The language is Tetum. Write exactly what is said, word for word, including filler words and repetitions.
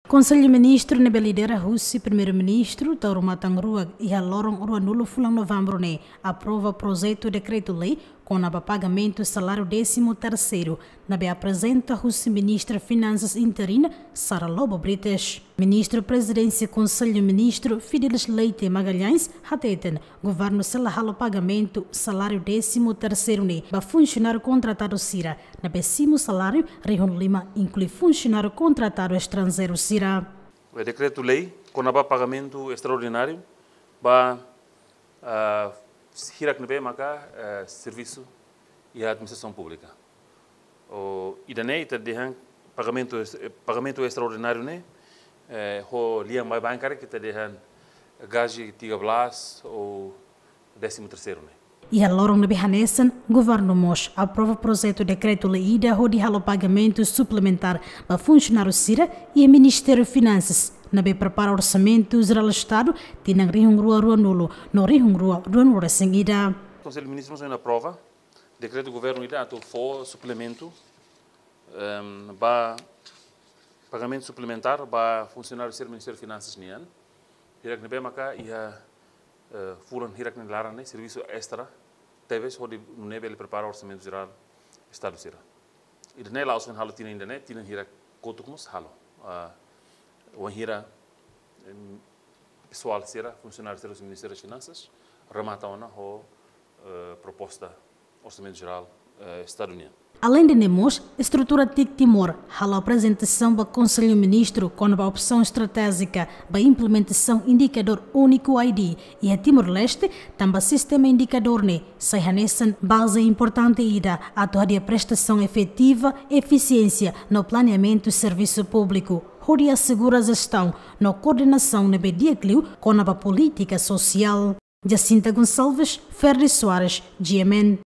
Konsellu Ministru ne'ebé lidera husi Primeiru-Ministru, Taur Matan Ruak, iha loron ruanulu fulan Novembru ne'e aprova projetu dekretu-lei kona-ba pagamentu saláriu désimu terseiru, ne'ebé aprezenta husi Ministra Finansas interina, Sara Lobo Brites. Ministru Prezidénsia Konsellu Ministru, Fidelis Leite Magalhães, hateten, governu sei la halo pagamentu saláriu désimu terseiru ne'e ba funsionáriu kontratadu sira, ne'ebé simu saláriu rihun lima, inklui funsionáriu kontratadu estranjeiru sira. Dekretu-lei kona-ba pagamentu estraordináriu ba, ah, hirak ne'ebé maka, eh, servisu iha administrasaun públika. Ou ida-ne'e ita dehan pagamentu es-, eh, pagamentu estraordináriu ne'e, eh, ho lian baibain karik ita dehan gaji tiga belas ou désimu terseiru ne'e. Iha loron ne'ebé hanesan, governu mós aprova projetu dekretu-lei ida hodi halo pagamentu suplementár ba funsionáriu sira iha Ministériu Finansas, ne'ebé prepara Orsamentu Jerál Estadu tinan rihun rua ruanulu no rihun rua ruanulu-resin-ida. Konsellu Ministru mós aprova dekretu governu ida atu fó suplementu, em, ba pagamentu suplementár ba funsionáriu sira Ministériu Finansas nian. Hirak ne'ebé maka iha, eh, fulan hirak nia laran ne'e servisu estra tebes hodi nune'e bele prepara Orsamentu Jerál Estadu sira. Ida-ne'e la'ós foin halo tinan ida-ne'e, tinan hirak kotuk mós halo. Ah, wainhira, em, pesoál sira, funsionáriu sira husi Ministériu Finansas remata ona ho, eh, proposta Orsamentu Jerál, eh, Estadu nian. Aleinde ne'e mós, estrutura TIC Timor halo aprezentasaun ba Konsellu Ministru kona-ba opsaun estratéjika ba implementasaun indikadór úniku I D iha Timor-Leste, tanba sistema indikadór ne'e sai hanesan baze importante ida atu hadi'a prestasaun efetiva, efisiénsia no planeamentu servisu públiku, hodi asegura jestaun no koordenasaun ne'ebé di'ak liu kona-ba polítika sosiál. Jacinta Gonçalves, Ferdi Soares, G M N.